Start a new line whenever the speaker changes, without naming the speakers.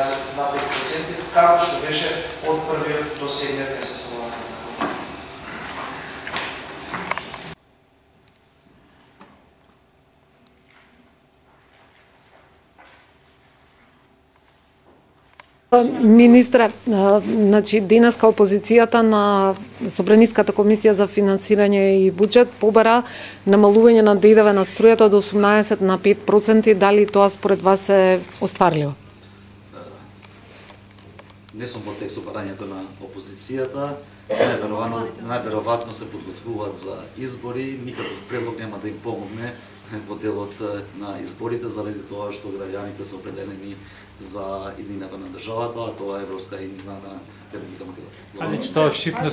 0,25%, како што беше од 1 до 7 месец оваа година.
Министре, значи денеска опозицијата на Собраниската комисија за финансирање и буџет побара намалување на ДДВ на струјата од 18 на 5%. Дали тоа според вас се остварливо?
Не сум во текст барањето на опозицијата. Најверојатно се подготвуваат за избори. Никаков предлог нема да им помогне во делот на изборите, заради тоа што граѓаните се определени за иднината на државата, а тоа е Европска иднина на Република Македонија.